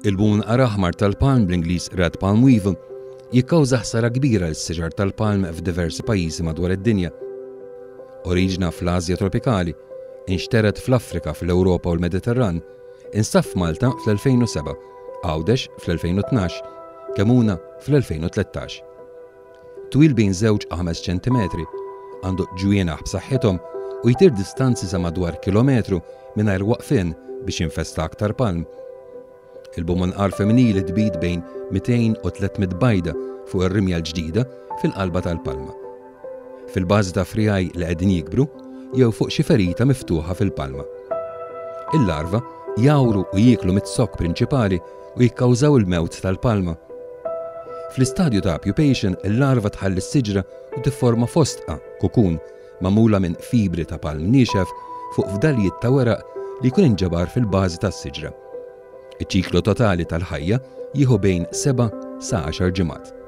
Il-munqar aħmar tal-palm bl-Ingliż Red Palm Weevil jikkawża ħsara kbira lis-siġar tal-palm f'diversi pajjiżi madwar id-dinja. Oriġina fl-Asja tropikali, inxtered fl-Afrika, fl-Ewropa u l-Mediterran, instab f'Malta fl-2007, Għawdex fl-2012, Kemuna fl-2013. Twil bejn żewġ u ħames ċentimetri, għandu ġwienaħ b'saħħithom u jtir distanzi sa madwar kilometru mingħajr waqfien biex jinfesta aktar palm. Il-bumunqar femminili tbid bejn 200 u 300 bajda fuq ir-rimja l-ġdida fil-qalba tal-palma. Fil-bażi ta' friegħi li qegħdin jikbru jew fuq xi ferita miftuħa fil-palma. Il-larva jgħawru u jieklu miz-zokk prinċipali u jikkawżaw il-mewt tal-palma. Fl-istadju ta' pupation, il-larva tħalli s-siġra u tifforma fostqa, kukun, magħmula minn fibri ta' palm niexef fuq fdalijiet ta' weraq li jkun inġabar fil-bażi tas-siġra. Iċ-ċiklu totali tal-ħajja jieħu bejn seba' sa għaxar ġimgħat.